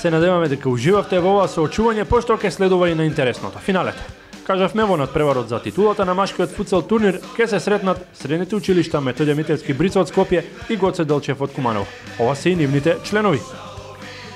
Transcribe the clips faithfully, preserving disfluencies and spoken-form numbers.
Се надеваме дека уживавте во ова соочување, пошто ќе следува и на интересното финалето. Кажавме во надпреварот за титулата на машкиот футсал турнир ќе се сретнат средните училишта Методија Митевски Брица од Скопје и Гоце Делчев од Куманово. Ова се и нивните членови.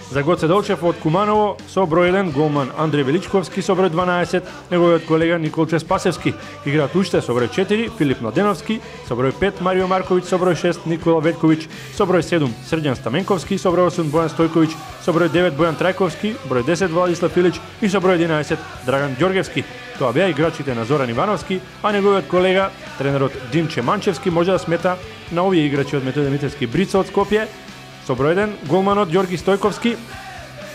За Гоце Делчев од Куманово со број еден голман Андреј Величковски со број дванаесет, неговиот колега Николче Спасевски. Играат уште со број четири Филип Младеновски, со број пет Марио Марковиќ, со број шест Никола Ветковиќ, со број седум Срđан Стаменковски, со број осум Бојан Стојковиќ, со број девет Бојан Трајковски, број десет Владислав Филич и со број единаесет Драган Ѓоргевски. Тоа беа играчите на Зоран Ивановски, а неговиот колега, тренерот Димче Манчевски, може да смета на овие играчи од Методија Митевски Брица од Скопје. Со број еден голманот Ѓорги Стојковски,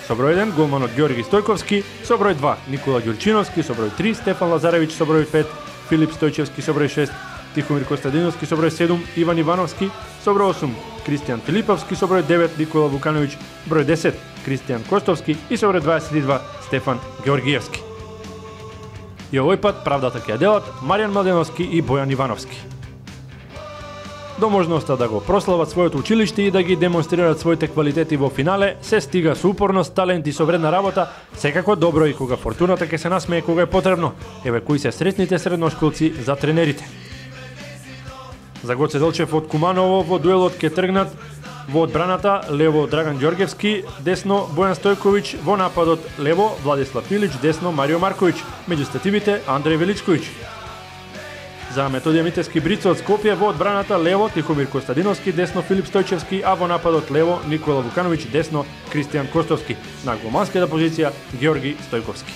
со број еден голманот Ѓорги Стојковски, со број два Никола Ѓурчиновски, со број три Стефан Лазаревиќ, со број пет Филип Стојчевски, со број шест Тихомир Костадиновски, со број седум Иван Ивановски, со број осум Кристијан Филиповски, со број девет Никола Вукановиќ, број десет Кристијан Костовски и со број дваесет и два Стефан Георгиевски. И овој пат правдата ќе ја делат Маријан Младеновски и Бојан Ивановски. До можноста да го прослават своето училиште и да ги демонстрират своите квалитети во финале, се стига со упорност, талент и со вредна работа, секако добро и кога фортуната ќе се насмее кога е потребно. Еве кои се сретните средношколци за тренерите. За Гоце Делчев од Куманово во дуелот ќе тргнат во одбраната лево Драган Ѓоргевски, десно Бојан Стојковиќ, во нападот лево Владислав Филич, десно Марио Марковиќ, меѓу стативите Андреј Величковиќ. За Методија Митевски Брица од Скопје во одбраната лево Тихомир Костадиновски, десно Филип Стојчевски, а во нападот лево Никола Вукановиќ, десно Кристијан Костовски. На голманската позиција Георги Стојковски.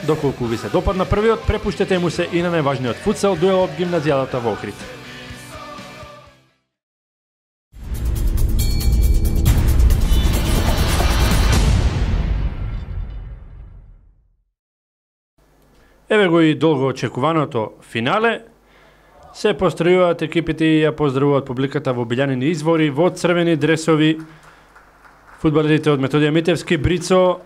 Доколку ви се допадна првиот, препуштете му се и на најважниот футсал дуел од гимназијадата во Охрид. Еве го и долго очекуваното финале. Се постројуваат екипите и ја поздравуваат публиката во билјанини извори, во црвени дресови. Фудбалерите од Методија Митевски Брицо,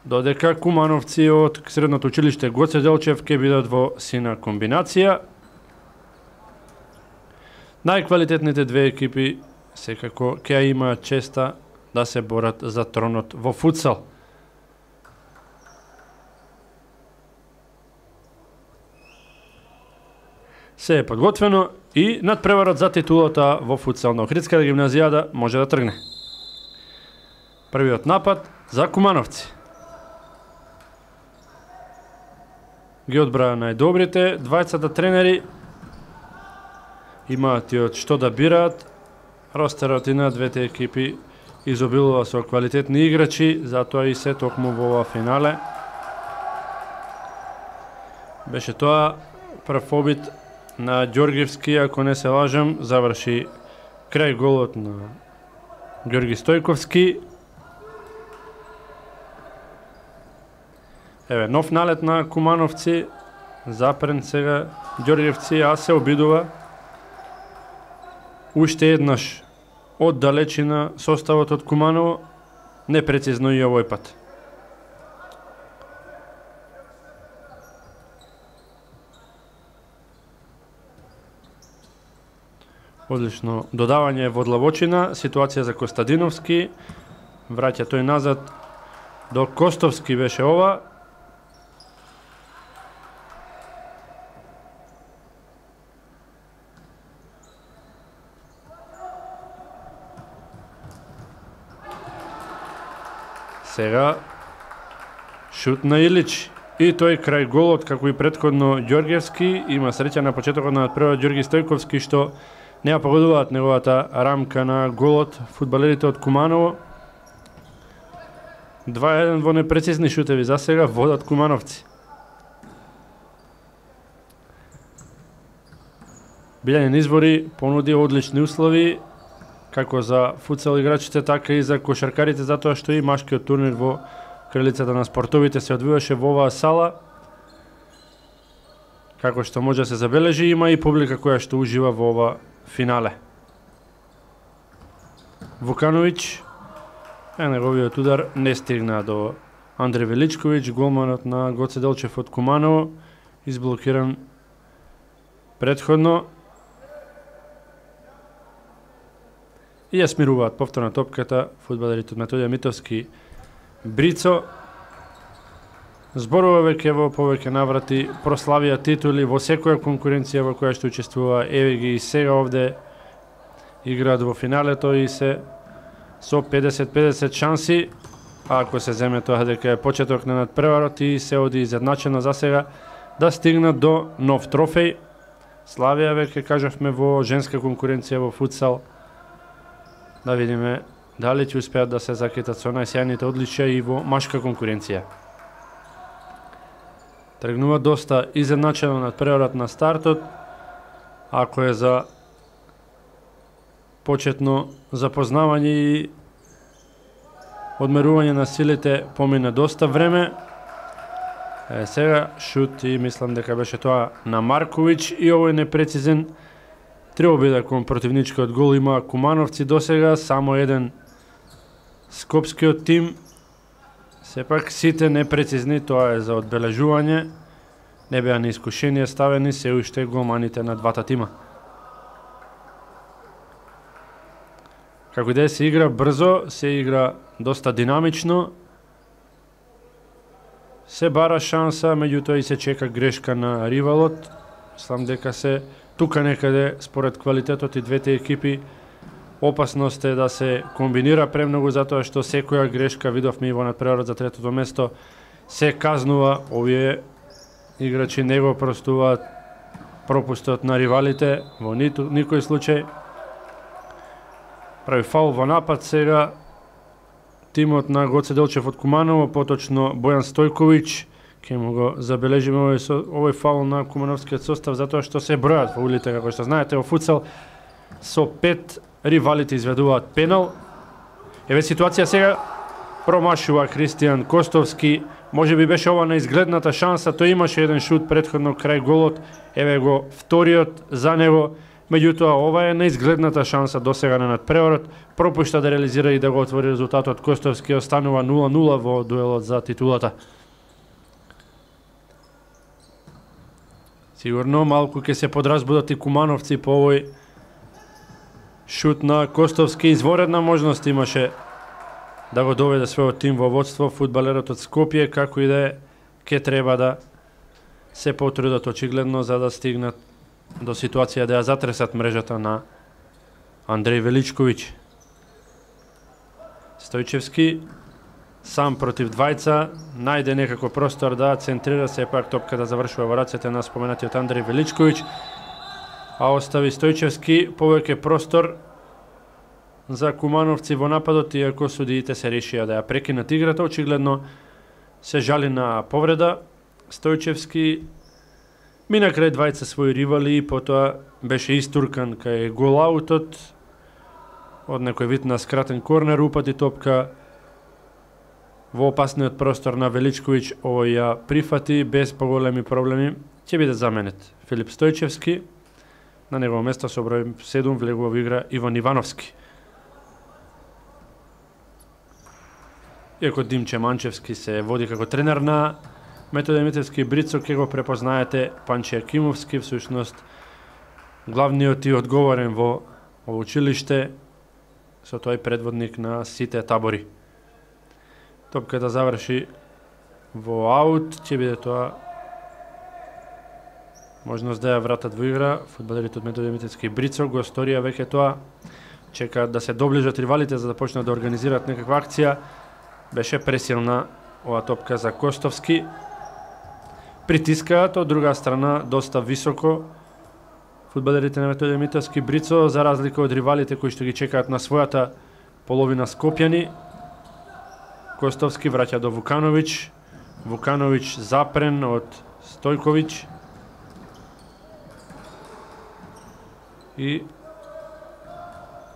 додека кумановци од средното училиште Гоце Делчев ќе бидат во сина комбинација. Најквалитетните две екипи секако ќе имаат честа да се борат за тронот во футсал. Се е подготвено и надпреварот за титулата во футсал на Охридската гимназијада може да тргне. Првиот напад за кумановци. Ги одбраа најдобрите, двајцата тренери имаат и од што да бираат. Ростерот и на двете екипи изобилува со квалитетни играчи, затоа и се токму во ова финале. Беше тоа прв обид на Ѓоргевски, ако не се лажам, заврши крај голот на Ѓорги Стојковски. Еве, нов налет на кумановци, запрен сега Ѓоргевци, а се обидува уште еднаш од далечина составот од Куманово, непрецизно и овој пат. Одлично додавање во длабочина, ситуација за Костадиновски, враќа тој назад до Костовски беше ова. Сега шут на Илич и тој крај голот, како и претходно Ѓоргевски, има среќа на почетокот на надпреварот Ѓорги Стојковски што не ја погодуваат неговата рамка на голот фудбалерите од Куманово. два еден во непрецизни шутеви за сега водат кумановци. Билјанин извори понуди одлични услови како за футсал играчите, така и за кошаркарите, затоа што и машкиот турнир во кралицата на спортовите се одвиваше во оваа сала. Како што може да се забележи, има и публика која што ужива во ова финале. Вукановиќ, е неговиот удар не стигна до Андреј Величковиќ, голманот на Гоце Делчев од Куманово, изблокиран предходно. и ја смируваат повторно топката фудбалерите од Методија Митовски Брицо. Зборува веќе во повеќе наврати, прославија титули во секоја конкуренција во која што учествува, еве ги и сега овде играат во финалето и се со педесет педесет шанси, а ако се земе тоа дека е почеток на надпреварот и се оди изедначено за сега да стигнат до нов трофеј. Славија веќе кажавме во женска конкуренција во футсал. Да видиме дали ќе успеат да се закитат со најсјајните одличија и во машка конкуренција. Тргнува доста изедначено надпреварот на стартот. Ако е за почетно запознавање и одмерување на силите, помине доста време. Е, сега шут и мислам дека беше тоа на Марковиќ и овој непрецизен треба биде кон противничкиот гол. Има Кумановци досега, само еден скопскиот тим. Сепак сите непрецизни, тоа е за одбележување. Не беа ни искушенија ставени се уште голманите на двата тима. Како и да се игра брзо, се игра доста динамично. Се бара шанса, меѓутоа и се чека грешка на ривалот. Мислам дека се тука некаде, според квалитетот и двете екипи, опасност е да се комбинира премногу, затоа што секоја грешка, видовме и во надпреварот за третото место, се казнува. Овие играчи не го простуваат пропустот на ривалите во ниту, никој случај. Прави фаул во напад сега тимот на Гоце Делчев од Куманово, поточно Бојан Стојковиќ. Ке му го забележиме овој, овој фаул на кумановскиот состав, затоа што се бројат фаулите, како што знаете, во футсал со пет ривалите изведуваат пенал. Еве ситуација сега, промашува Кристијан Костовски, може би беше ова неизгледната шанса, тој имаше еден шут претходно крај голот, еве го вториот за него, меѓутоа ова е неизгледната шанса досега на надпреварот, пропушта да реализира и да го отвори резултатот. Костовски останува нула нула во дуелот за титулата. Сигурно малку ќе се подразбудат и кумановци по овој шут на Костовски. Изворедна можност имаше да го доведе својот тим во водство. Фудбалерот од Скопје, како и да е, ќе треба да се потрудат очигледно за да стигнат до ситуација да ја затресат мрежата на Андреј Величковиќ. Стојчевски сам против двајца, најде некако простор да центрира, сепак топката завршува во рацете на споменатиот Андреј Величковиќ, а остави Стојчевски повеќе простор за кумановци во нападот, иако судиите се решија да ја прекинат играта. Очигледно се жали на повреда. Стојчевски мина крај двајца своји ривали и потоа беше истуркан кај голаутот од некој вид на скратен корнер, упати топка во опасниот простор на Величковиќ. Овој ја прифати без поголеми проблеми. Ќе биде заменет Филип Стојчевски. На негово место со број седум влегува во игра Иван Ивановски. Иако Димче Манчевски се води како тренер на Методија Митовски Брицо, ке го препознаете Панче Акимовски, всушност главниот и одговорен во ово училиште, со тој предводник на сите табори. Топката заврши во аут, ќе биде тоа можност да ја вратат во игра. Фудбалерите од Методија Митовски Брицо го сторија веќе тоа, чекаат да се доближат ривалите за да почнат да организираат некаква акција. Беше пресилна ова топка за Костовски. Притискаат од друга страна доста високо фудбалерите на Методија Митовски Брицо, за разлика од ривалите кои што ги чекаат на својата половина скопјани. Костовски враќа до Вукановиќ. Вукановиќ запрен од Стојковиќ. И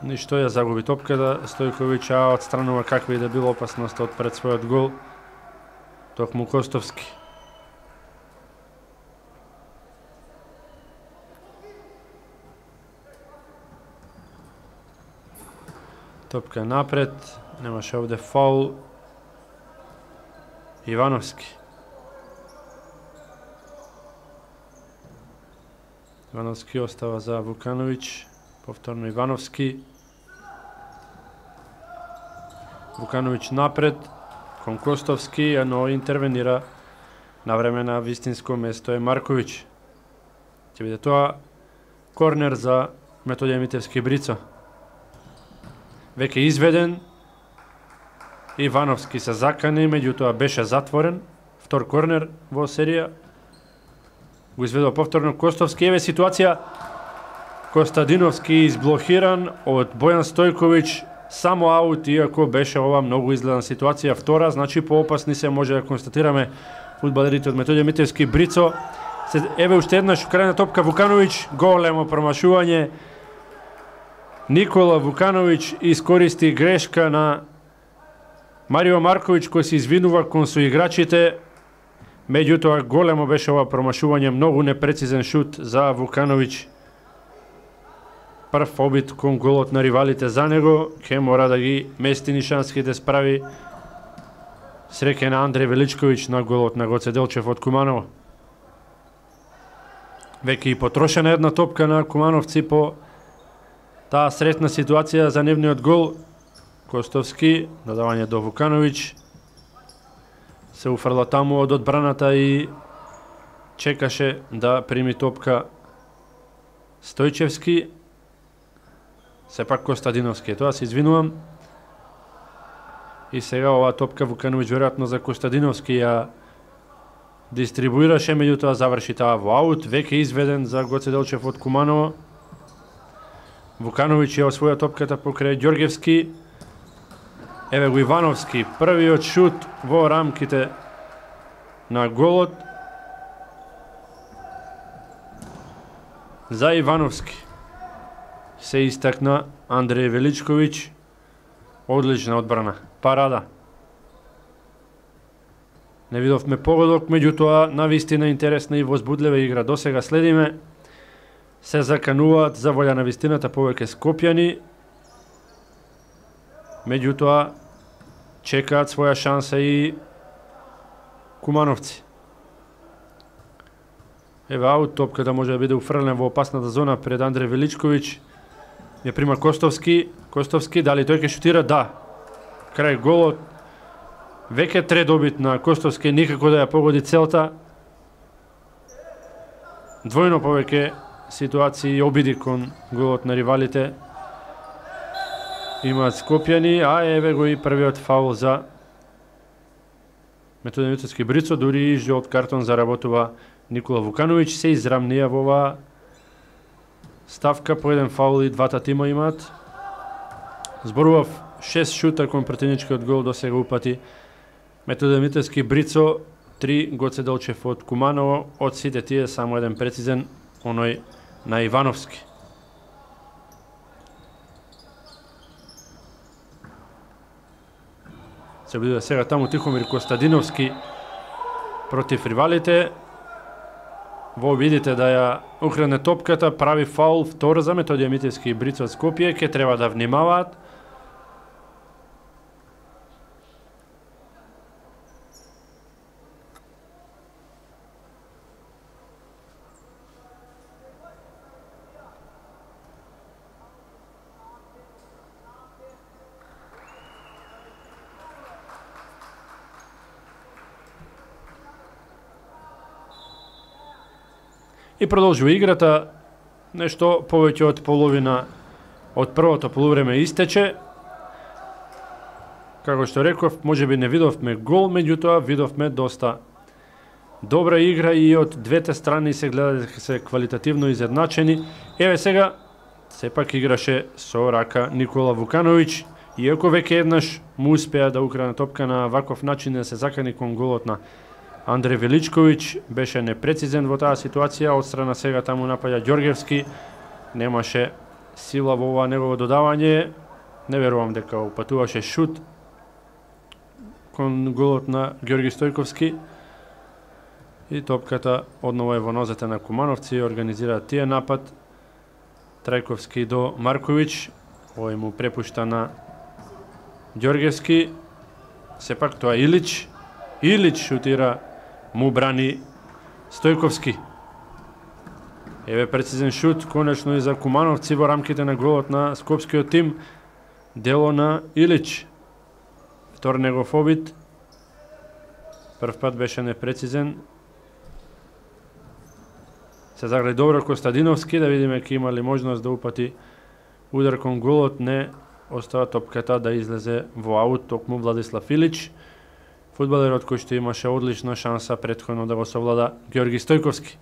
ништо ја загуби топката Стојковиќ, а отстранува каква и да била опасност од пред својот гол токму Костовски. Топка напред, немаше овде фаул. Ивановски. Ивановски остава за Вукановиќ, повторно Ивановски. Вукановиќ напред кон Костовски, но интервенира на време на вистинско место е Марковиќ. Ќе биде тоа корнер за Методија Митевски Брицо. Веќе изведен, Ивановски се закани, меѓутоа беше затворен. Втор корнер во серија. Го изведува повторно Костовски. Еве ситуација. Костадиновски изблокиран од Бојан Стојковиќ. Само аут, иако беше ова многу изгледна ситуација. Втора, значи поопасни се може да констатираме фудбалерите од Методија Митевски Брицо. Еве уште еднаш украдена топка Вукановиќ. Големо промашување. Никола Вукановиќ искористи грешка на Марио Марковиќ, кој се извинува кон соиграчите. Меѓутоа големо беше ова промашување, многу непрецизен шут за Вукановиќ. Прв обид кон голот на ривалите за него, ке мора да ги мести нишански да справи. Среќа на Андреј Величковиќ на голот на Гоце Делчев од Куманово. Веќе и потрошена една топка на кумановци по таа сретна ситуација за нивниот гол. Костовски, додавање до Вукановиќ. Се уфрла таму од одбраната и чекаше да прими топка Стојчевски. Сепак Костадиновски. Тоа се извинувам. И сега оваа топка Вукановиќ веројатно за Костадиновски ја дистрибуираше, меѓутоа заврши таа во аут. Веќе изведен за Гоце Делчев од Куманово. Вукановиќ ја освоја топката покрај Ѓоргевски. Еве го Ивановски, првиот шут во рамките на голот за Ивановски. Се истакна Андреј Величковиќ. Одлична одбрана, парада. Не видовме погодок, меѓутоа навистина интересна и возбудлива игра. Досега следиме. Се закануваат за волја на вистината повеќе скопјани. Меѓутоа чекаат своја шанса и кумановци. Еве аут, топката може да биде уфрлена во опасната зона пред Андреј Величковиќ. Ја прима Костовски. Костовски, дали тој ќе шутира? Да. Крај голот. Веќе трет добит на Костовски, никако да ја погоди целта. Двојно повеќе ситуации и обиди кон голот на ривалите имаат скопјани, а еве го и првиот фаул за Методија Митевски Брицо, дури и жолт картон заработува Никола Вукановиќ. Се израмнија во оваа ставка, по еден фаул и двата тима имаат. Зборував шест шута кон претеничкиот гол, до сега упати Методија Митевски Брицо, три Гоце Делчев од Куманово, од сите тие само еден прецизен, оној на Ивановски. Се биде сега таму Тихомир Костадиновски против ривалите. Во видите да ја укране топката, прави фаул, втор за Методија Митевски Брицо од Скопје, ке треба да внимаваат. И продолжува играта, нешто повеќе од половина од првото полувреме истече. Како што реков, можеби не видовме гол, меѓутоа видовме доста добра игра и од двете страни се гледа дека се квалитативно изедначени. Еве сега, сепак играше со рака Никола Вукановиќ, иако веќе еднаш му успеа да укране топка на ваков начин да се закани кон голот на Андреј Величковиќ, беше непрецизен во таа ситуација, од страна сега таму напаѓа Ѓоргевски, немаше сила во ова негово додавање, не верувам дека упатуваше шут кон голот на Ѓорги Стојковски. И топката одново е во нозете на кумановци, организираат тие напад. Трајковски до Марковиќ, овој му препушта на Ѓоргевски, сепак тоа Илич, Илич шутира, му брани Стојковски. Еве прецизен шут, конечно и за кумановци во рамките на голот на скопскиот тим, дело на Илич. втор негов обид. Прв пат беше непрецизен. Се загради добро Костадиновски, да видиме ке има ли можност да упати удар кон голот. Не, остава топката да излезе во аут, токму Владислав Илич. Фудбалерот кој што имаше одлична шанса претходно да го совлада Георги Стојковски.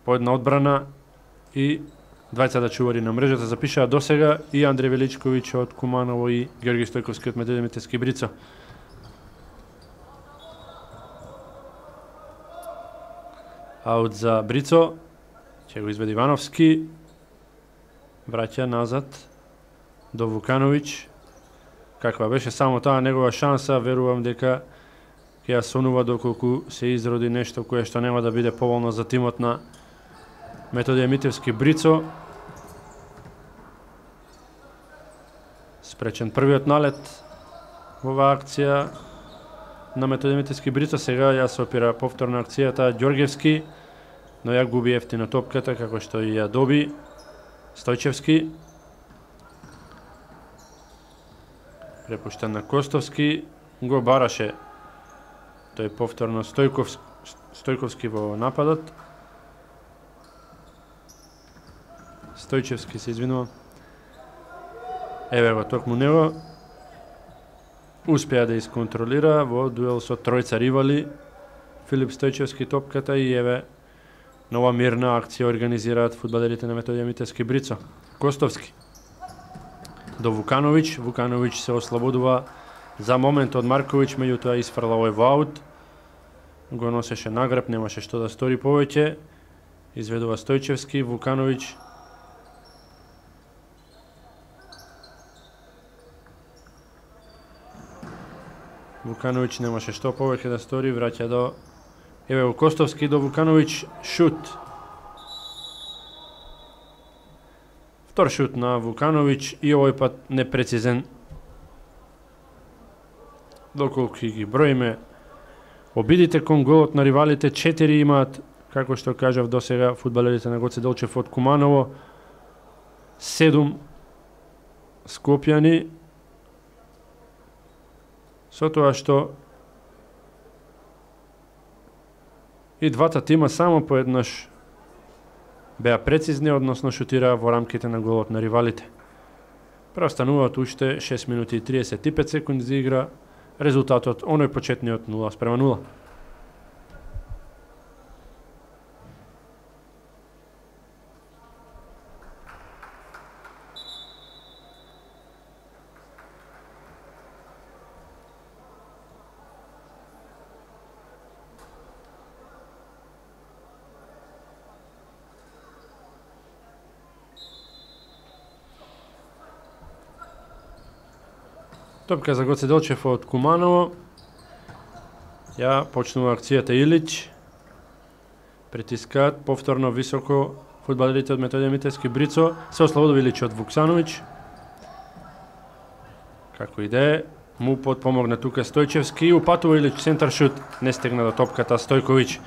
По една одбрана и двајцата чувари на мрежата запишаа досега и Андре Величковиќ од Куманово и Георги Стојковски од Методи Митевски Брицо. Аут за Брицо, ќе го изведи Ивановски, враќа назад до Вукановиќ. Каква беше само таа негова шанса, верувам дека ќе ја сонува доколку се изроди нешто кое што нема да биде поволно за тимот на Методија Митевски Брицо. Спречен првиот налет во оваа акција на Методија Митевски Брицо. Сега ја се опира повторна акцијата Ѓоргевски, но ја губи ефтино топката како што и ја доби Стојчевски. Препуштен на Костовски, го бараше тој повторно Стојковски, Стојковски во нападот. Стојчевски се извинува. Еве го токму него. Успеа да исконтролира во дуел со тројца ривали. Филип Стојчевски топката и еве нова мирна акција организираат фудбалерите на Методија Митевски Брицо. Костовски до Вукановиќ. Вукановиќ се ослободува за момент од Марковиќ, меѓутоа isfrла овој во аут. Го носеше нагреб, немаше што да стори повеќе. Изведува Стојчевски, Вукановиќ. Вукановиќ немаше што повеќе да стори, враќа до еве го Костовски до Вукановиќ, шут. Втор шут на Вукановиќ и овој пат непрецизен. Доколку ги броиме обидите кон голот на ривалите, четири имаат, како што кажав досега, фудбалерите на Гоце Делчев од Куманово, седум Скопјани, со тоа што и двата тима само поеднаш беа прецизни, односно шутираа во рамките на голот на ривалите. Преостануваат уште шест минути и триесет и пет секунди за игра, резултатот оној почетниот нула спрема нула. Топка за Гоце Делчев од Куманово. Ја почнува акцијата Илич. Притискаат повторно високо фудбалерите од Методија Митевски Брицо. Се ослободува Илич од Вуксановиќ. Како и да е, му подпомогна тука Стојчевски. Упатува Илич центар шут. Не стегна до топката Стојковиќ.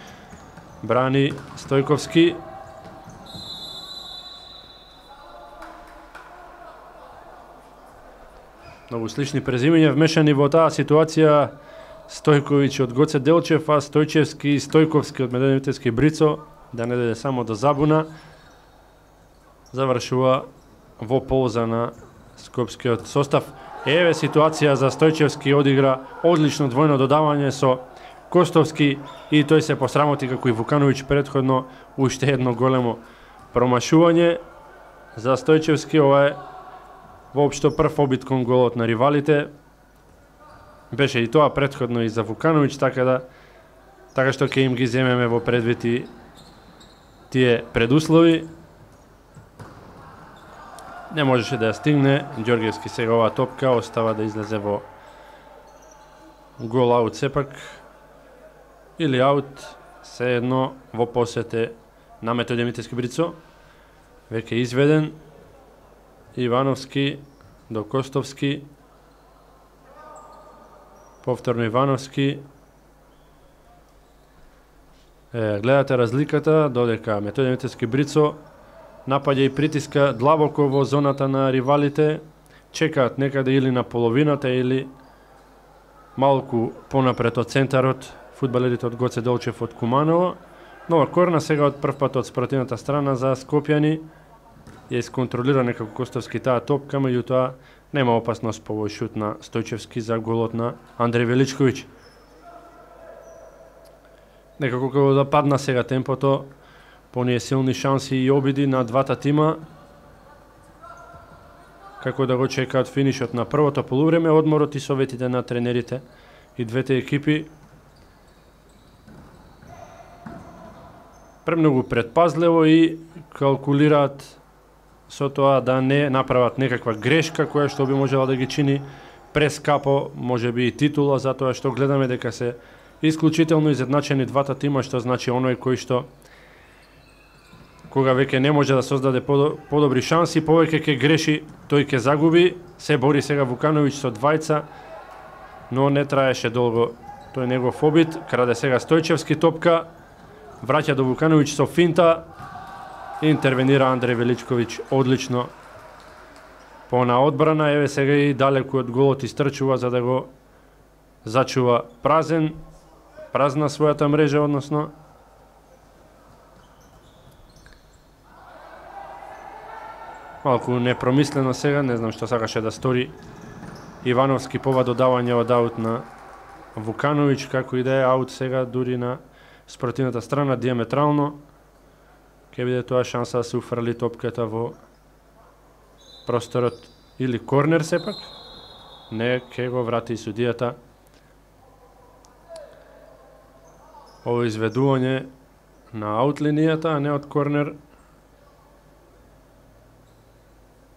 Брани Стојковски. Многу слични презимења вмешани во таа ситуација. Стојковиќ од Гоце Делчев, а Стојчевски и Стојковски од Методија Митевски Брицо, да не дојде само до забуна, завршува во полза на скопскиот состав. Еве ситуација за Стојчевски, одигра одлично двојно додавање со Костовски и тој се посрамоти како и Вукановиќ претходно. Уште едно големо промашување за Стојчевски. Ова е воопшто прв обид кон голот на ривалите. Беше и тоа претходно и за Вукановиќ, така да така што ќе им ги земеме во предвид и тие предуслови. Не можеше да ја стигне Ѓоргевски. Сега оваа топка остава да излезе во гол аут сепак. Или аут, се едно во посете на Методија Митевски Брицо. Веќе изведен. Ивановски до Костовски. Повторно Ивановски. Е, гледате разликата, додека Методија Митевски Брицо напаѓа и притиска длабоко во зоната на ривалите. чекаат некаде или на половината или малку понапред од центарот фудбалерите од Гоце Делчев од Куманово. Нова корна сега од прв пат од спротивната страна за Скопјани. Ја исконтролира некако Костовски таа топка, меѓутоа нема опасност по овој шут на Стојчевски за голот на Андреј Величковиќ. Некако како да падна сега темпото, по оние силни шанси и обиди на двата тима, како да го чекаат финишот на првото полувреме, одморот и советите на тренерите и двете екипи. Премногу предпазливо и калкулираат со тоа да не направат некаква грешка која што би можела да ги чини прескапо, може би и титула, затоа што гледаме дека се исклучително изедначени двата тима, што значи оној кој што кога веќе не може да создаде подобри шанси, повеќе ќе греши, тој ќе загуби. Се бори сега Вукановиќ со двајца, но не траеше долго тој негов обид. Краде сега Стојчевски топка, враќа до Вукановиќ со финта, интервенира Андреј Величковиќ одлично по на одбрана. Еве сега и далеку од голот истрчува за да го зачува празен, празна својата мрежа, односно малку непромислено сега, не знам што сакаше да стори Ивановски по додавање од аут на Вукановиќ, како и да е аут сега дури на спротивната страна диаметрално. Ке биде тоа шанса да се уфрли топката во просторот или корнер сепак. Не, ке го врати судијата. Ово изведување на аут линијата, а не од корнер.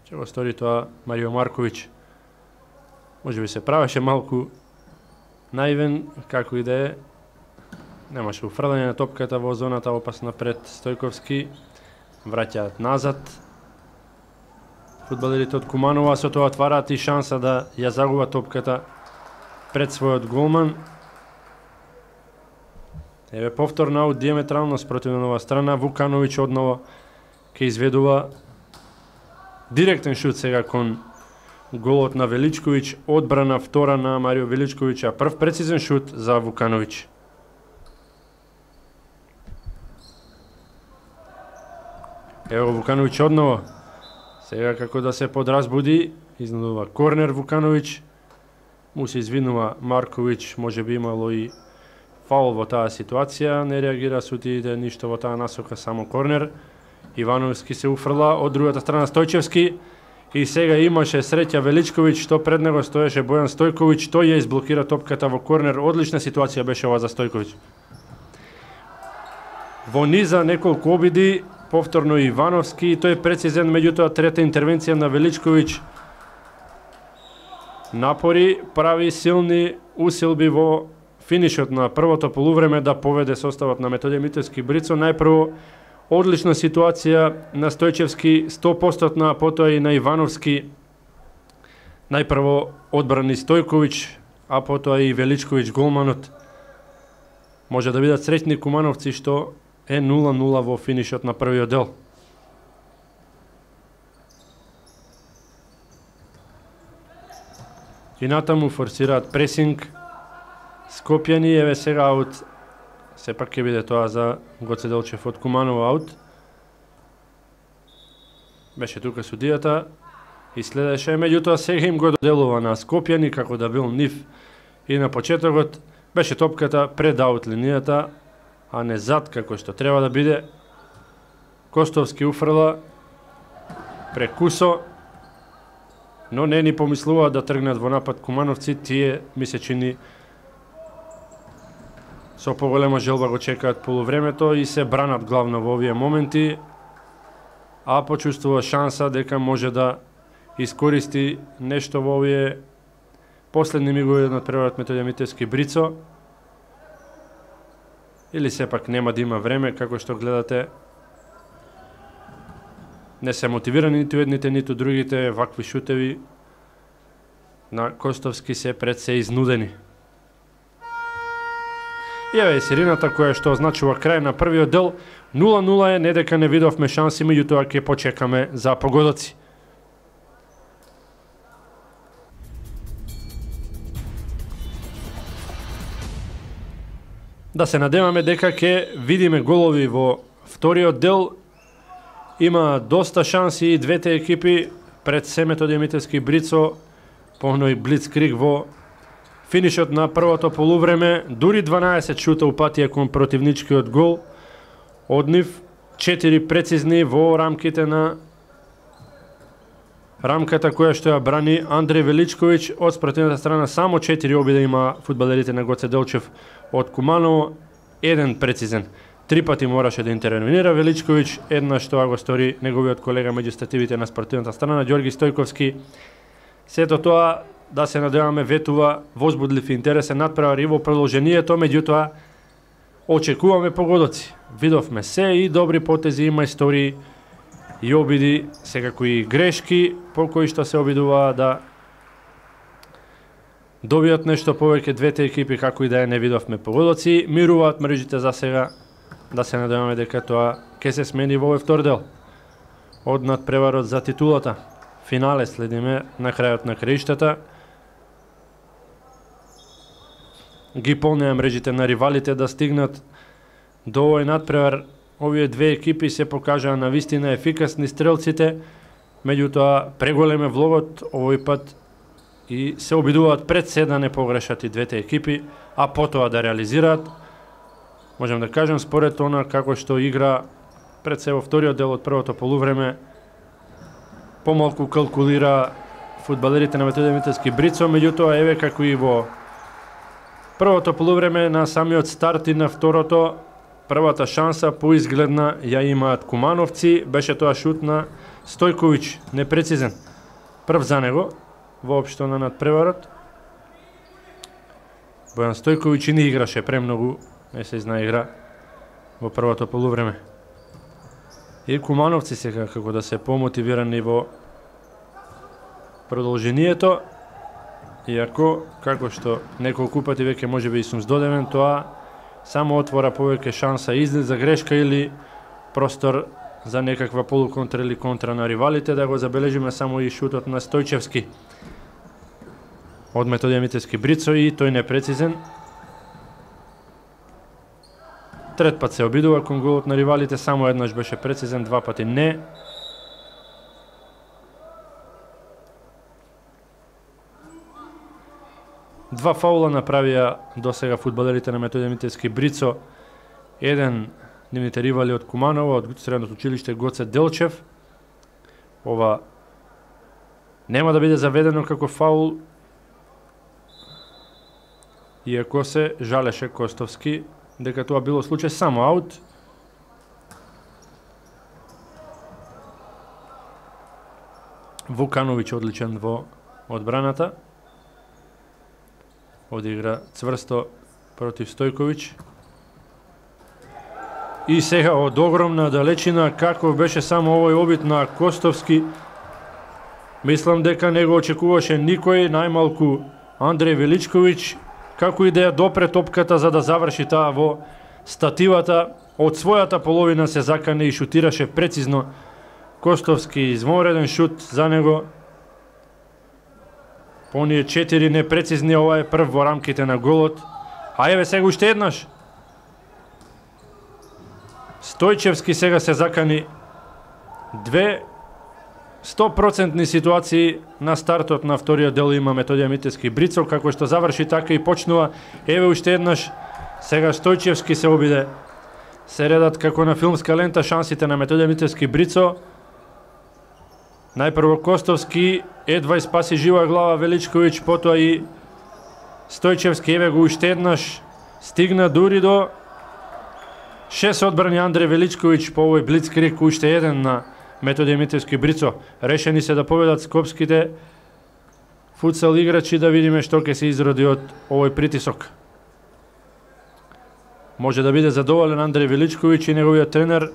Че го стори тоа Марио Марковиќ. Може би се правеше малку наивен, како и да е. Немаше уфрлање на топката во зоната опасна пред Стојковски. Враќаат назад фудбалерите од Куманово, а со тоа отвараат и шанса да ја загуба топката пред својот голман. Еве повторно аут диаметрално спротивно нова страна. Вукановиќ одново ќе изведува директен шут сега кон голот на Величковиќ. Одбрана втора на Марио Величковиќ, а прв прецизен шут за Вукановиќ. Ево Вукановиќ одново. Сега како да се подразбуди, изнудува корнер Вукановиќ. Му се извинува Марковиќ, може би имало и фаул во таа ситуација. Не реагира судиите ништо во таа насока, само корнер. Ивановски се уфрла, од другата страна Стојчевски. И сега имаше среќа Величковиќ, што пред него стоеше Бојан Стојковиќ. Тој ја изблокира топката во корнер. Одлична ситуација беше ова за Стојковиќ. Во низа неколку обиди, повторно Ивановски, тој е прецизен, меѓутоа трета интервенција на Величковиќ. Напори, прави силни усилби во финишот на првото полувреме да поведе составот на Методиј Митевски Брицо. Најпрво одлична ситуација на Стојчевски, сто проценти, а потоа и на Ивановски. Најпрво одбрани Стојковиќ, а потоа и Величковиќ голманот. Може да бидат среќни кумановци што е нула нула во финишот на првиот дел. И натаму форсираат пресинг Скопјани. Еве сега аут, сепак ќе биде тоа за Гоце Делчев од Куманово аут. Беше тука судијата и следеше, меѓутоа сега им го доделува на Скопјани како да бил нив и на почетокот. Беше топката пред аут линијата, а не зад како што треба да биде. Костовски уфрла прекусо, но не ни помислуваат да тргнат во напад кумановци. Тие ми се чини со поголема желба го чекаат полувремето и се бранат главно во овие моменти, а почувствува шанса дека може да искористи нешто во овие последни мигови од надпреварот Методиј Митевски Брицо. Или сепак нема да има време, како што гледате. Не се мотивирани ниту едните, ниту другите. Вакви шутеви на Костовски се пред се изнудени. И еве е сирената која што означува крај на првиот дел. нула нула е, не дека не видовме шанси, меѓутоа ќе почекаме за погодоци. Да се надеваме дека ќе видиме голови во вториот дел. Има доста шанси и двете екипи пред се Методи Мителски Брицо, поној блицкриг во финишот на првото полувреме, дури дванаесет шута упатија кон противничкиот гол. Од нив четири прецизни во рамките на рамката која што ја брани Андреј Величковиќ. Од спротивната страна само четири обида има фудбалерите на Гоце Делчев од Куманово, еден прецизен. Три пати мораше да интервенира Величковиќ, еднаш тоа го стори неговиот колега меѓу стативите на спортивната страна Ѓорги Стојковски. Сето тоа, да се надеваме, ветува возбудлив и интересен надпревар и во продолжението, меѓутоа очекуваме погодоци. Видовме се и добри потези, има истории и обиди, секако и грешки по кои што се обидуваа да добијат нешто повеќе двете екипи, како и да е не видовме погодоци. Мируваат мрежите за сега, да се надеваме дека тоа ќе се смени во овој втор дел од надпреварот за титулата. Финале следиме на крајот на краиштата. Ги полнеа мрежите на ривалите да стигнат до овој надпревар. Овие две екипи се покажаа на вистина ефикасни стрелците, меѓутоа преголем е влогот овој пат и се обидуваат пред се да не погрешат и двете екипи, а потоа да реализираат. Можем да кажем, според она како што игра пред се во вториот дел од првото полувреме, помалку калкулира фудбалерите на Методи Мителски Брицо, меѓутоа еве како и во првото полувреме на самиот старт и на второто, првата шанса поизгледна ја имаат кумановци, беше тоа шут на Стојковиќ, непрецизен. Прв за него, воопшто на надпреварот. Бојан Стојковиќ не играше премногу, не се зна игра во првото полувреме. И кумановци сега како да се помотивирани во продолжението, иако, како што неколку пати веќе можеби и сум здодевен, тоа само отвора повеќе шанса излез за грешка или простор за некаква полуконтра или контра на ривалите. Да го забележиме само и шутот на Стојчевски од Методи Мителски Брицо и тој непрецизен. Трет пат се обидува кон голот на ривалите, само еднаш беше прецизен, два пати не. Два фаула направија досега фудбалерите на Методи Мителски Брицо. Еден нивните ривали од Куманово, од средното училиште Гоце Делчев. Ова нема да биде заведено како фаул, иако се жалеше Костовски дека тоа било случај само аут. Вукановиќ одличен во одбраната. Одигра цврсто против Стојковиќ. И сега од огромна далечина, како беше само овој обид на Костовски, мислам дека не го очекуваше никој, најмалку Андреј Величковиќ, како и да ја допре топката за да заврши таа во стативата. Од својата половина се закане и шутираше прецизно. Костовски извонреден шут за него. По оние четири непрецизни, ова е прв во рамките на голот. А еве сега уште еднаш. Стојчевски сега се закани. Две сто процентни ситуации на стартот на вториот дел има Методи Мителски Брицо, како што заврши така и почнува. Еве уште еднаш. Сега Стојчевски се обиде. Се редат како на филмска лента шансите на Методи Мителски Брицо. Најпрво Костовски, едва и спаси жива глава Величковиќ, потоа и Стојчевски, еве го уште еднаш, стигна дури до шест одбрани Андреј Величковиќ по овој блицкриг, уште еден на Методи Мителски Брицо. Решени се да победат скопските футсал играчи, да видиме што ќе се изроди од овој притисок. Може да биде задоволен Андреј Величковиќ и неговиот тренер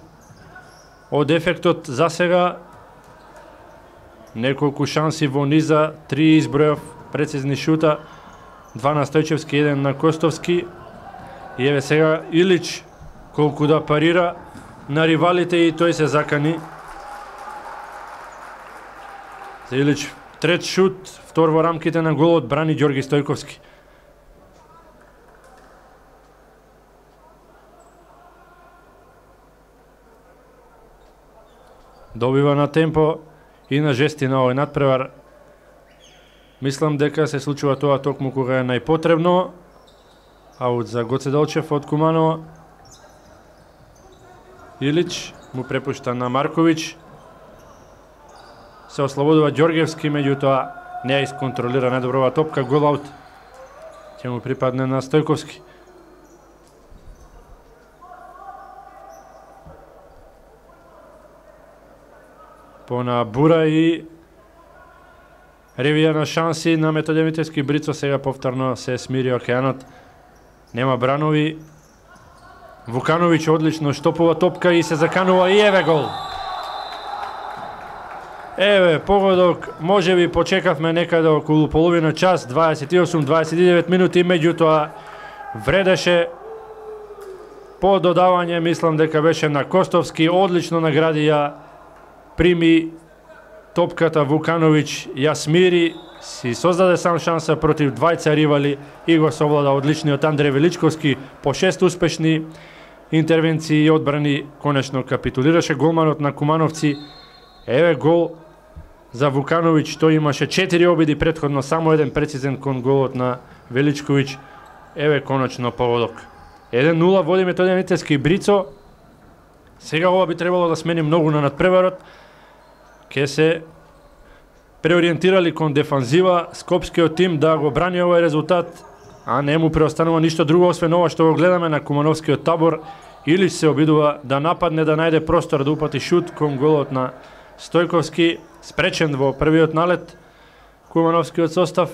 од ефектот за сега. Неколку шанси во низа, три избројав прецизни шута, два на Стојчевски, еден на Костовски. И еве сега Илич колку да парира на ривалите и тој се закани. За Илич трет шут, втор во рамките на голот, брани Ѓорги Стојковски. Добива на темпо и на жестина овој надпревар. Мислам дека се случува тоа токму кога е најпотребно. Аут за Гоце Делчев од Куманово. Илич му препушта на Марковиќ. Се ослободува Ѓоргевски, меѓутоа не ја исконтролира недоброва топка, гол аут. Ќе му припадне на Стојковски. Пона Бура и ревија на шанси на Метоѓe Митевски. Брицо сега повторно се смири океанот. Нема бранови. Вукановиќ одлично штопува топка и се заканува и еве гол. Еве погодок, можеби почекавме некаде околу половина час, дваесет и осум дваесет и девет минути, меѓутоа вредеше по додавање, мислам дека беше на Костовски, одлично награди ја, прими топката Вукановиќ, ја смири, си создаде сам шанса против двајца ривали и го совлада одличниот Андреј Величковски. По шест успешни интервенции и одбрани конечно капитулираше голманот на Кумановци. Еве гол за Вукановиќ, тој имаше четири обиди претходно, само еден прецизен кон голот на Величковиќ. Еве конечно погодок. еден нула води Метоѓe Митевски. Брицо сега ова би требало да смени многу на надпреварот. Ке се преориентирали кон дефанзива скопскиот тим да го брани овој резултат, а не му преостанува ништо друго освен ова што го гледаме на кумановскиот табор. Илич се обидува да нападне, да најде простор, да упати шут кон голот на Стојковски, спречен во првиот налет кумановскиот состав.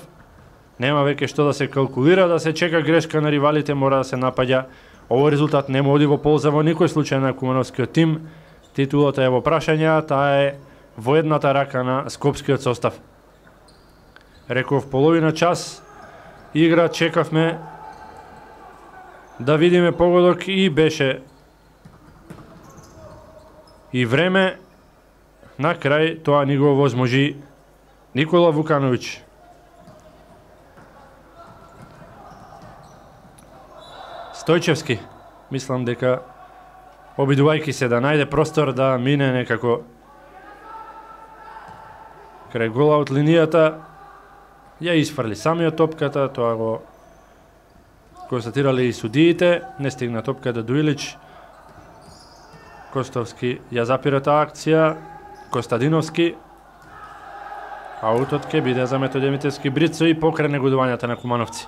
Нема веќе што да се калкулира, да се чека грешка на ривалите, мора да се напаѓа. Овој резултат не му оди во полза во никој случај на кумановскиот тим. Титулата е во прашање, таа е во едната рака на скопскиот состав. Реков половина час игра, чекавме да видиме погодок и беше и време. На крај тоа ни го возможи Никола Вукановиќ. Стојчевски, мислам дека обидувајќи се да најде простор, да мине некако крај гола од линијата, ја изфрли самиот топката, тоа го констатирали и судиите, не стигна топката до Илич. Костовски ја запира таа акција, Костадиновски. Аутот ке биде за Метоѓe Митевски. Брицо и покрај негодувањата на кумановци.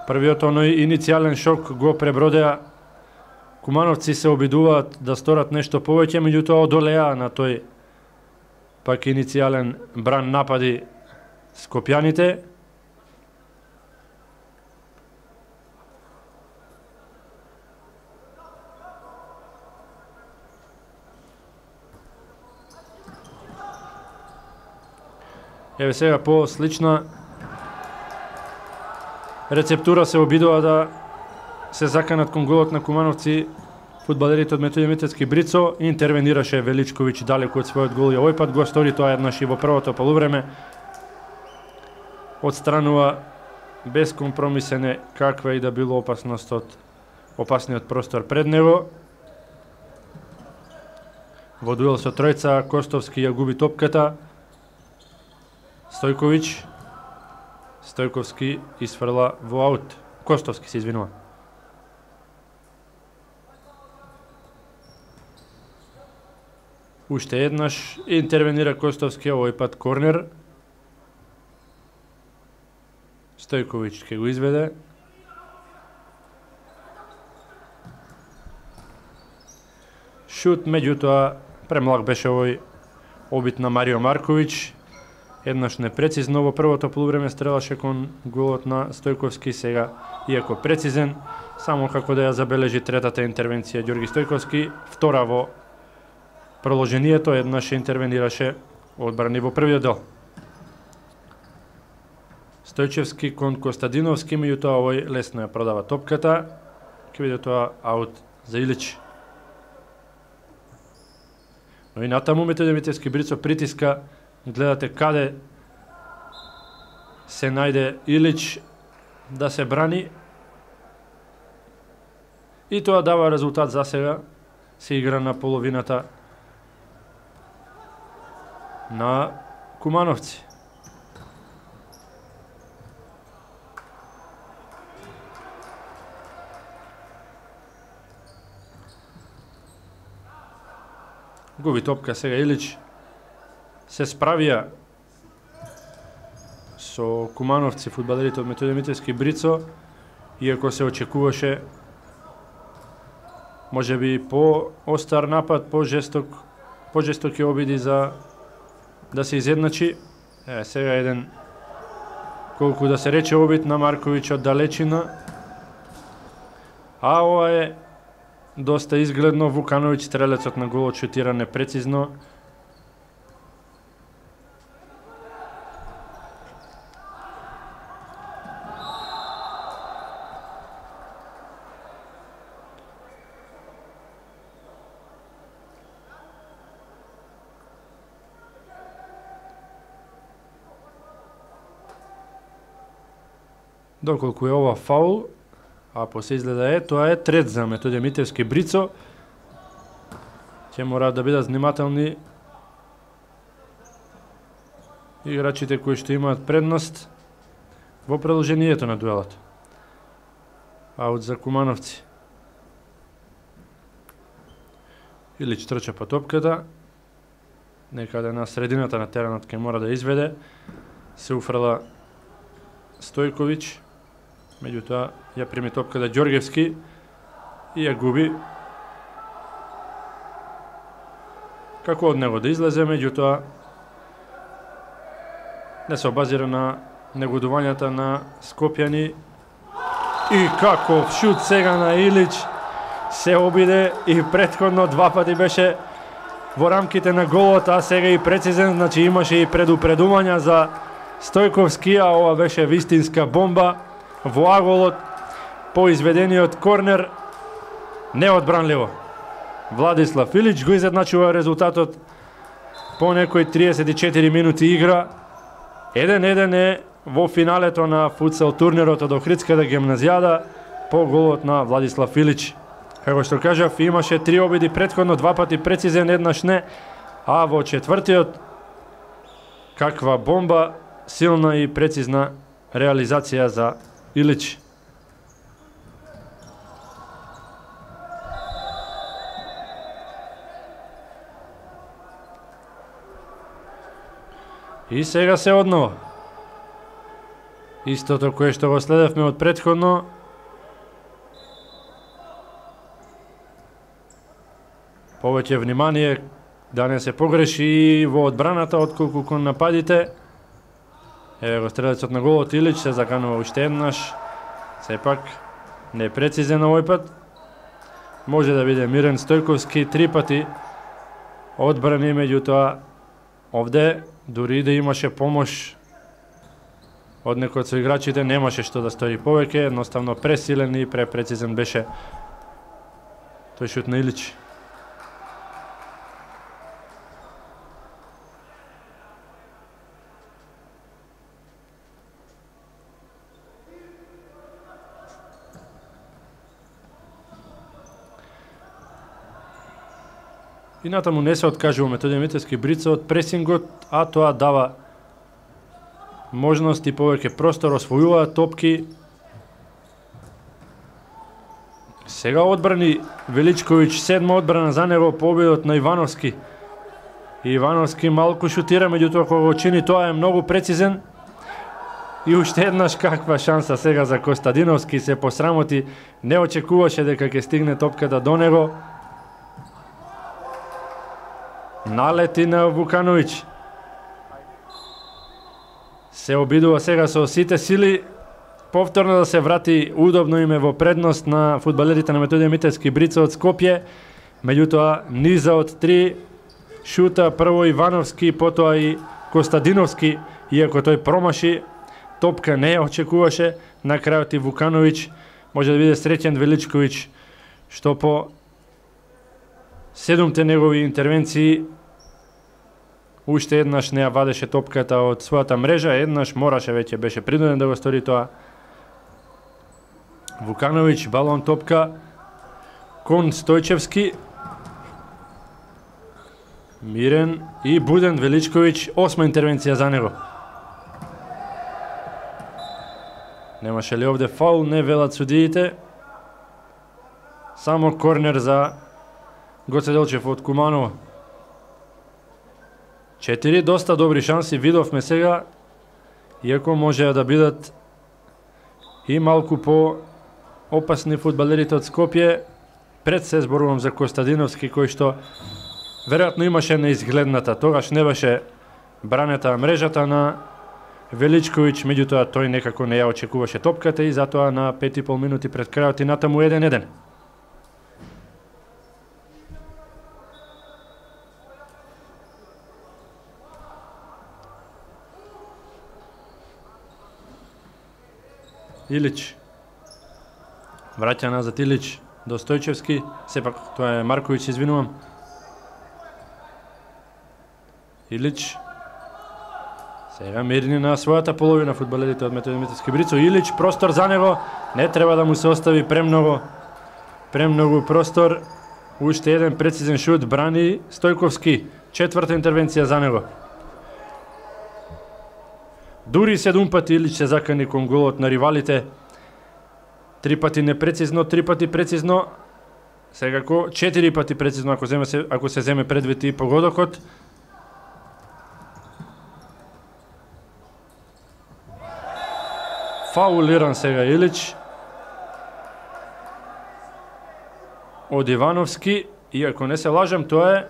Првиот оној иницијален шок го пребродеа. Кумановци се обидуваат да сторат нешто повеќе, меѓутоа одолеа на тој пак иницијален бран напади скопјаните. Еве сега по слична рецептура се обидува да се заканат кон голот на кумановци фудбалерите од Метоѓe Митевски. Брицо интервенираше Величковиќ далеку од својот гол и овој пат го стори тоа еднаш и во првото полувреме. Отстранува безкомпромисен каква и да било опасност од опасниот простор пред него. Во дуел со тројца Костовски ја губи топката. Стојковиќ, Стојковски изфрла во аут. Костовски се извинува. Уште еднаш интервенира Костовски, овој пат корнер. Стојковиќ ке го изведе. Шут, меѓутоа премлаг беше овој обид на Марио Марковиќ. Еднаш непрецизно во првото полувреме стрелаше кон голот на Стојковски, сега иако прецизен, само како да ја забележи третата интервенција Ѓорги Стојковски, втора во проложението, еднаш интервенираше одбрани во првиот дел. Стојчевски кон Костадиновски, меѓутоа овој лесно ја продава топката, ќе биде тоа аут за Илич. Но и натаму Метоѓe Митевски. Брицо притиска, гледате каде се најде Илич, да се брани и тоа дава резултат за сега. Се игра на половината на Кумановци. Губи топка сега Илич. Се справија со Кумановци фудбалерите од Методи Митевски Брицо, иако се очекуваше можеби по остар напад, по жесток, по жестоки обиди за да се изедначи. Е, сега еден, колку да се рече, обид на Марковиќ од далечина. А ова е доста изгледно. Вукановиќ, стрелецот на голот, шутира непрецизно. Доколку е ова фаул, а по се изгледа е, тоа е трет за Методи Митевски Брицо. Ќе мораат да бидат внимателни играчите кои што имаат предност во продолжението на дуелот. Аут за Кумановци. Илич трча по топката. Некаде на средината на теренот ќе мора да изведе. Се уфрла Стојковиќ. Меѓутоа ја прими топката Ѓоргевски и ја губи. Како од него да излезе, меѓутоа не се обазира на негодувањата на Скопјани. И каков шут сега на Илич. Се обиде и претходно два пати беше во рамките на голот, а сега и прецизен, значи имаше и предупредувања за Стојковски, а ова беше вистинска бомба во аголот по изведениот корнер. Неодбранливо. Владислав Илич го изедначува резултатот по некои триесет и четири минути игра. еден еден е во финалето на футсал турнирот од Охридската гимназијада по голот на Владислав Илич. Како што кажав, имаше три обиди претходно, два пати прецизен, еднаш не, а во четвртиот каква бомба, силна и прецизна реализација за Илич. И сега се однова. Истото кое што го следевме од претходно. Повеќе внимание да не се погреши во одбраната отколку кон нападите. Еве го стрелецот на голот Илич се заканува уште еднаш. Сепак непрецизен овој пат. Може да биде Мирен Стојковски три пати одбрани, меѓутоа овде дури да имаше помош од некој од соиграчите, немаше што да стори повеќе, едноставно пресилен и препрецизен беше тој шут на Илич. И натаму не се откажува Методи Митевски Брица од пресингот, а тоа дава можности, повеќе простор, освојуваат топки. Сега одбрани Величковиќ, седма одбрана за него по обидот на Ивановски. Ивановски малку шутира, меѓутоа кога го чини тоа е многу прецизен. И уште еднаш каква шанса сега за Костадиновски, се посрамоти, не очекуваше дека ќе стигне топката до него. Налети на Вукановиќ. Се обидува сега со сите сили повторно да се врати удобно име во предност на фудбалерите на Методи Митевски Брица од Скопје. Меѓутоа низа од три шута, прво Ивановски, потоа и Костадиновски, иако тој промаши, топка не ја очекуваше. На крајот и Вукановиќ може да биде среќен Величковиќ, што по седумте негови интервенции уште еднаш не ја вадеше топката од својата мрежа, еднаш мораше, веќе беше принуден да го стори тоа. Вукановиќ, балон топка кон Стојчевски. Мирен и буден Величковиќ, осма интервенција за него. Немаше ли овде фаул, не велат судиите. Само корнер за Гоце Делчев од Куманово. Четири доста добри шанси видовме сега, иако можеа да бидат и малку по опасни фудбалерите од Скопје. Пред се зборувам за Костадиновски, кој што веројатно имаше неизгледната, тогаш не беше бранета мрежата на Величковиќ, меѓутоа тој некако не ја очекуваше топката и затоа на пет и пол минути пред крајот и натаму еден еден. Илич. Враќа назад Илич до Стојчевски, сепак тоа е Марковиќ, извинувам. Илич. Сега мирни на својата половина фудбалерите од Методи Митевски Брицо. Илич, простор за него, не треба да му се остави премногу, премногу простор. Уште еден прецизен шут, брани Стојковски, четврта интервенција за него. Дури седум пати Илич се закани кон голот на ривалите. Три пати непрецизно, три пати прецизно. Секако четири пати прецизно ако земе се ако се земе предвид и погодокот. Фаулиран сега Илич од Ивановски, и ако не се лажам, тоа е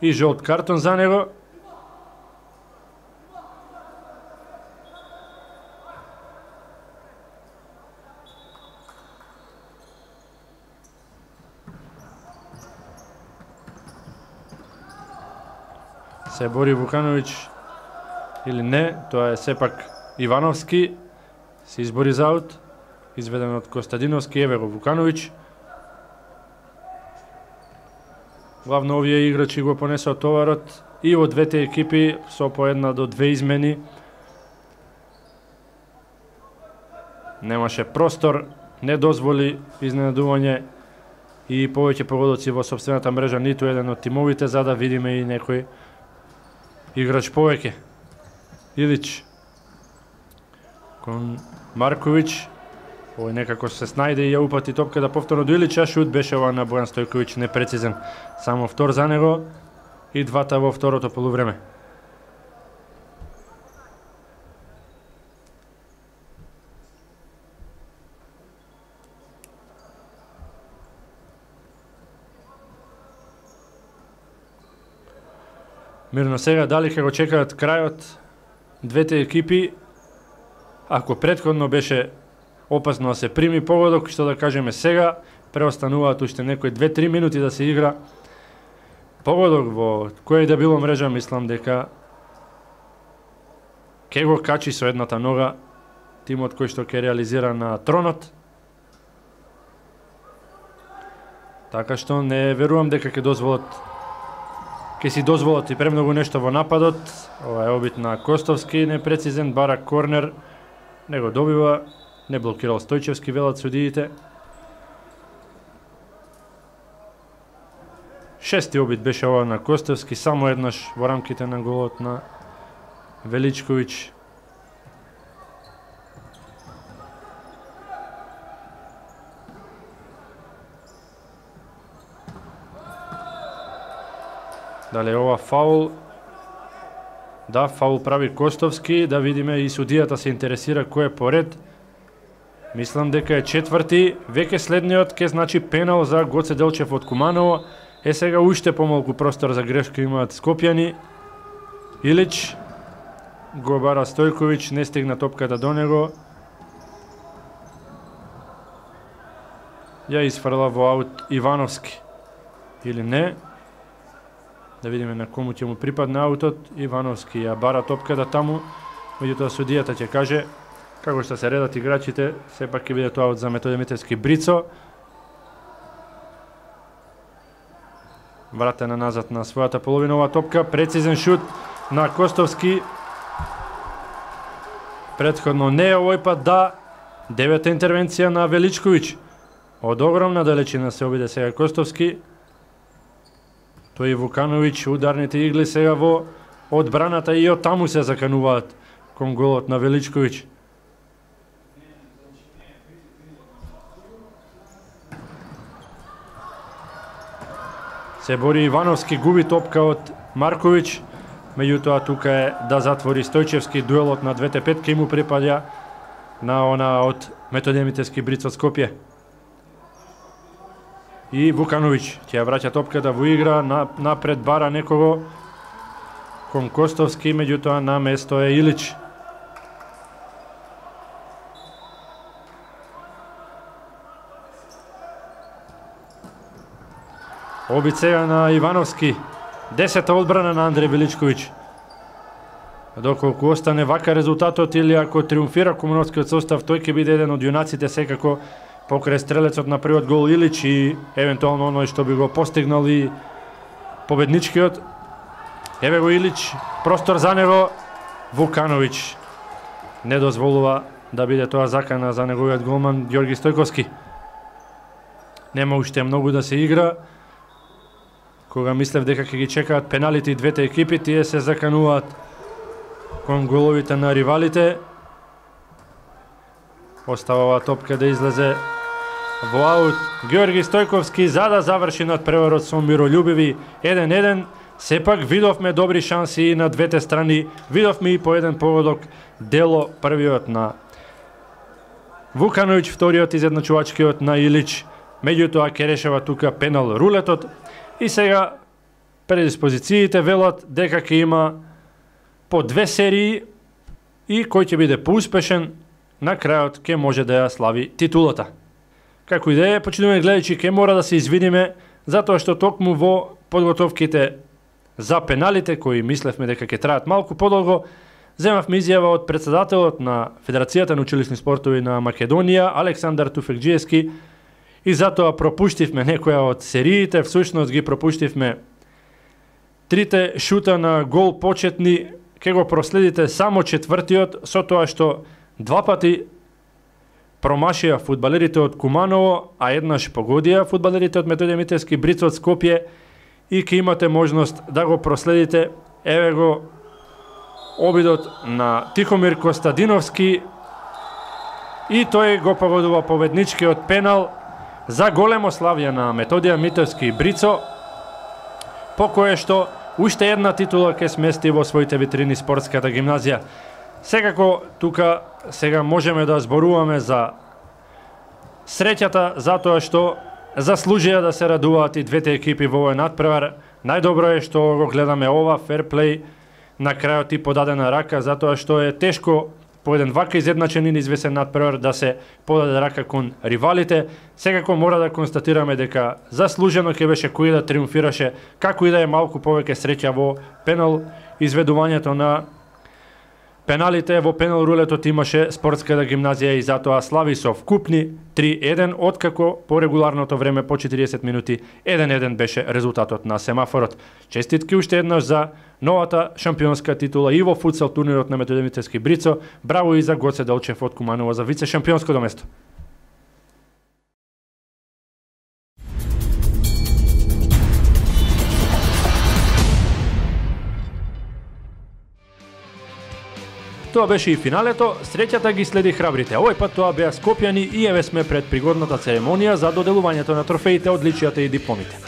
и жолт картон за него. Се бори Вукановиќ или не, тоа е сепак Ивановски, се избори за аут, изведен од Костадиновски, еве го Вукановиќ. Главно овие играчи го понесоа товарот и во двете екипи со по една до две измени. Немаше простор, не дозволи изненадување и повеќе погодоци во сопствената мрежа ниту еден од тимовите, за да видиме и некој играч повеќе. Илич кон Марковиќ, овој некако се снајде и ја упати топката повторно до Илич, а шут беше ова на Бојан Стојковиќ непрецизен. Само втор за него и двата во второто полувреме. Мирно сега, дали ќе го чекаат крајот двете екипи? Ако претходно беше опасно да се прими погодок, што да кажеме сега, преостануваат уште некои две-три минути да се игра. Погодок во кој да било мрежа, мислам дека ќе го качи со едната нога тимот кој што ќе реализира на тронот. Така што не верувам дека ќе дозволат ќе си дозволат и премногу нешто во нападот. Ова е обид на Костовски, непрецизен, барак корнер, не го добива, не блокирал Стојчевски, велат судиите. Шести обид беше ова на Костовски, само еднаш во рамките на голот на Величковиќ. Дале ова фаул. Да, фаул прави Костовски, да видиме и судијата се интересира кој е поред. Мислам дека е четврти, веќе следниот ке значи пенал за Гоце Делчев од Куманово. Е сега уште помалку простор за грешка имаат скопјани. Илич го бара Стојковиќ, не стигна топката до него. Ја изфрла во аут Ивановски. Или не? Да видиме на кому ќе му припадне аутот. Ивановски ја бара топката таму, меѓутоа судијата ќе каже како што се редат играчите, сепак ќе биде тоа аут за Методи Митевски Брицо. Вратена назад на својата половина ова топка, прецизен шут на Костовски. Претходно не овој пат да, Девета интервенција на Величковиќ. Од огромна далечина се обиде сега Костовски. Тој и Вукановиќ, ударните игли сега во одбраната и од таму се закануваат кон голот на Величковиќ. Се бори Ивановски, губи топка од Марковиќ. Меѓутоа тука е да затвори Стојчевски, дуелот на двете петки му припаѓа на она од Методија Митевски Бриц од Скопје. И Вукановиќ ќе ја враќа топката во игра, на, напред бара некого кон Костовски, меѓутоа на место е Илич. Обид сега на Ивановски. Десета одбрана на Андреј Величковиќ. Доколку остане вака резултатот или ако триумфира Кумановскиот состав, тој ќе биде еден од јунаците секако покрај стрелецот на првиот гол Илич и евентуално оној што би го постигнал и победничкиот. Еве го Илич, простор за него. Вукановиќ не дозволува да биде тоа закана за неговиот голман Ѓорги Стојковски. Нема уште многу да се игра. Кога мислев дека ќе ги чекаат пеналите и двете екипи, тие се закануваат кон головите на ривалите. Остава топка да излезе во аут. Ѓорги Стојковски за да заврши надпреварот со миролюбиви еден еден. Сепак видовме добри шанси и на двете страни. Видовме и по еден погодок дело, првиот на Вукановиќ, вториот изедначувачкиот на Илич. Меѓутоа ќе решава тука пенал рулетот. И сега предиспозициите велат дека ќе има по две серии и кој ќе биде поуспешен на крајот ќе може да ја слави титулата. Како и да е, почитувани гледачи, ќе мора да се извиниме затоа што токму во подготовките за пеналите, кои мислевме дека ќе траат малку подолго, земавме изјава од председателот на Федерацијата на училишни спортови на Македонија, Александар Туфекџиевски, и затоа пропуштивме некоја од сериите, всушност ги пропуштивме трите шута на гол почетни, ке го проследите само четвртиот, со тоа што два пати промашија фудбалерите од Куманово, а еднаш погодија фудбалерите од Методија Митевски Бриц од Скопје, и ке имате можност да го проследите. Еве го обидот на Тихомир Костадиновски и тој го погодува победничкиот пенал за големо славје на Методија Митевски Брицо, по кое што уште една титула ќе смести во своите витрини спортската гимназија. Секако тука сега можеме да зборуваме за среќата, затоа што заслужија да се радуваат и двете екипи во овој надпревар. Најдобро е што го гледаме ова ферплей на крајот и подадена рака, затоа што е тешко по еден вака изедначен и неизвесен надпревар да се подаде рака кон ривалите. Секако мора да констатираме дека заслужено ќе беше кој да триумфираше, како и да е малку повеќе среќа во пенал изведувањето на пеналите. Во пенал рулетот имаше спортската гимназија и затоа слави со вкупни три еден, откако по регуларното време по четириесет минути еден еден беше резултатот на семафорот. Честитки уште еднаш за новата шампионска титула и во футсал турнирот на Методија Митевски Брицо. Браво и за Гоце Делчев од Куманово за вице шампионското место. Тоа беше и финалето, среќата ги следи храбрите. Овој пат тоа беа скопјани и еве сме пред пригодната церемонија за доделувањето на трофеите, одличијата и дипломите.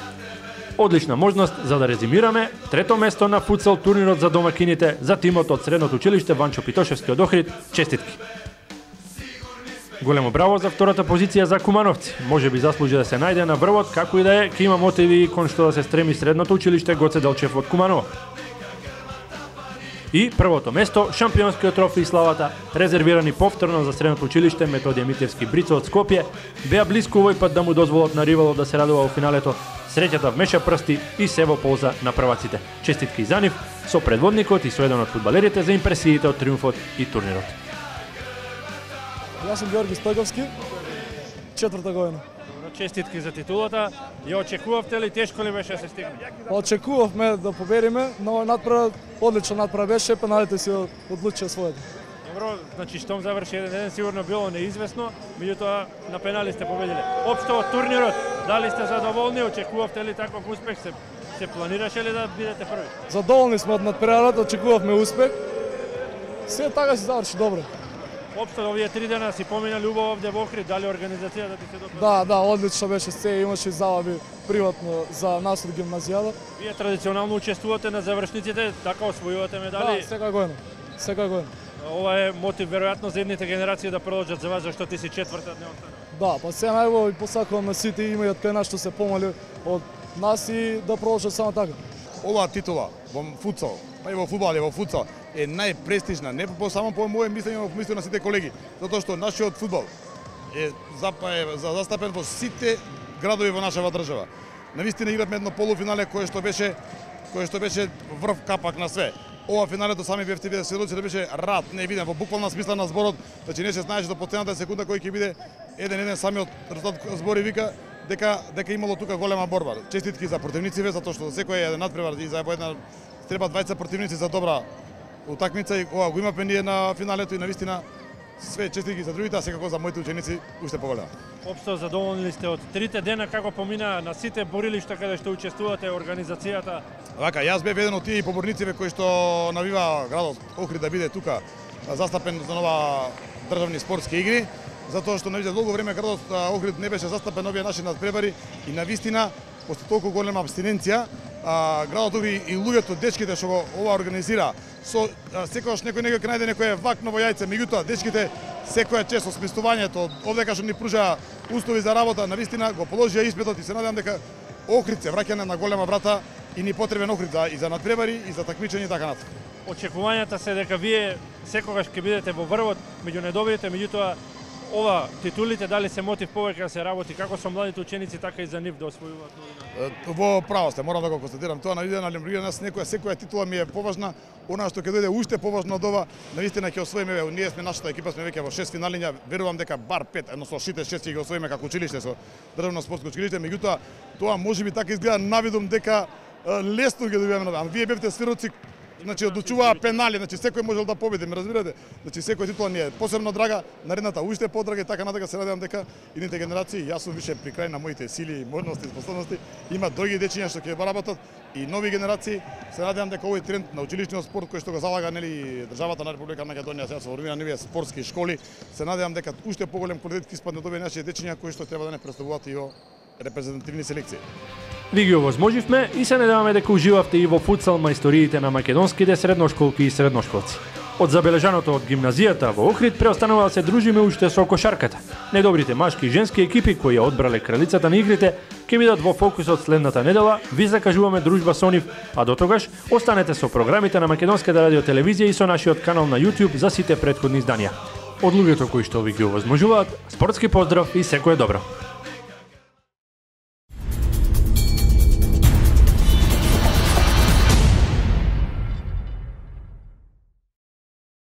Одлична можност за да резимираме: трето место на футсал турнирот за домакините за тимот од средното училиште Ванчо Питошевски од Охрид. Честитки. Големо браво за втората позиција за кумановци. Може би заслужи да се најде на врвот, како и да е, ќе има мотиви кон што да се стреми средното училиште Гоце Делчев од Куманово. И првото место, шампионскиот трофеј и славата, резервирани повторно за средното училиште Методија Митевски Брицо од Скопје, беа блиску овој пат да му дозволат на ривалот да се радува во финалето. Среќата вмеша прсти и се во полза на прваците. Честитки за нив, со предводникот и со еден од фудбалерите за импресиите од триумфот и турнирот. Јас сум Ѓорги Стојковски, четврта година. Честитки за титулата. Ја очекувавте ли, тешко ли беше да се стигне? Очекувавме да победиме, но надпревар, одличен надпревар беше, пеналите си одлучија своето. Добро, значи штом заврши еден еден сигурно било неизвестно, меѓутоа на пенали сте победиле. Општо од турнирот, дали сте задоволни, очекувавте ли таков успех, се се планираше ли да бидете први? Задоволни сме од надпреварата, очекувавме успех. Се така се заврши добро. Општо овие три дена си поминали убаво овде во Охрид, дали организацијата ти се допаѓа? Да, да, одлично беше се, имаше и забави приватно за нас од гимназијата. Вие традиционално учествувате на завршниците, така освојувате медали. Да, секоја година. Секоја година. Ова е мотив веројатно за едните генерации да продолжат за вас, зашто ти си четврта, не остана. Да, па се најубаво и посакуваме сите имаат пена што се помали од нас и да продолжат само така. Оваа титула во футсал, па и во фудбал и во футсал е најпрестижна, не по само по моје мислење, но по мислење на сите колеги, затоа што нашиот фудбал е, е застапен во сите градови во нашава држава. Навистина игравме едно полуфинале кое што беше кое што беше врв капак на све. Ова финалето сами бевте виде сведоци да беше рад невиден во буквална смисла на зборот, значи не се знаеше до последната секунда кој ќе биде еден еден самиот резултат збори вика дека дека имало тука голема борба. Честитки за противниците затоа што секој е надпревар и за една треба двајца противници за добра утакмица и ова го имаме ние на финалето и навистина све честитки за другите, а секако за моите ученици уште поголема. Општо задоволни ли сте од трите дена како помина на сите борилишта каде што учествувате, организацијата? Вака, јас бев еден од тие поборниците кои што навива градот Охрид да биде тука застапен за нова државни спортски игри, затоа што навише долго време градот Охрид не беше застапен овие наши надпревари и навистина после толку голема абстиненција, а, градот Охрид и луѓето, дечките што го ова организира, со секогаш некој некој ќе најде некое вакново јајце, меѓутоа дечките секоја чест со сместувањето, овде што ни пружа услови за работа, навистина го положија испитот и се надевам дека Охрид се враќа на голема врата и ни потребен Охрид за, и за надпревари и за такмичење и така натаму. Очекувањата се дека вие секогаш ќе бидете во врвот меѓу недобрите, меѓутоа ова титулите дали се мотив повеќе да се работи како со младите ученици, така и за нив да освојуваат новина? Во право сте, морам да го констатирам тоа, навидено на нас некоја секоја титула ми е поважна, она што ќе дојде уште поважно од ова, навистина ќе освоиме, ние сме нашата екипа сме веќе во шест финалиња, верувам дека бар пет, едно со шите шест ќе ги освоиме како училиште со државно спортско училиште, меѓутоа тоа можеби така изгледа навидум дека лесно ги добиваме, ама вие бевте свироци. Значи одлучуваа пенали, значи секој можел да победи, ме разбирате? Значи секој титула ни е посебно драга, наредната уште подрага и така натака се надевам дека идните генерации, јас сум више при крај на моите сили и можности и способности, има други дечиња што ќе работат и нови генерации. Се надевам дека овој тренд на училишниот спорт кој што го залага нели државата на Република Македонија сега со формирање нови спортски школи, се надевам дека уште поголем квалитет ќе испадне од овие наши дечиња кои што треба да не представуваат и во репрезентативни селекции. Ви ги овозможивме и се надеваме дека уживавте и во футсал мајсториите на македонските средношколки и средношколци. Од забележаното од гимназијата во Охрид преостанува да се дружиме уште со кошарката. Недобрите машки и женски екипи кои ја одбрале кралицата на игрите ќе бидат во фокусот следната недела. Ви закажуваме дружба со нив, а до тогаш останете со програмите на Македонската радиотелевизија и со нашиот канал на YouTube за сите претходни изданија. Од луѓето кои што ви ги овозможуваат, спортски поздрав и секое добро.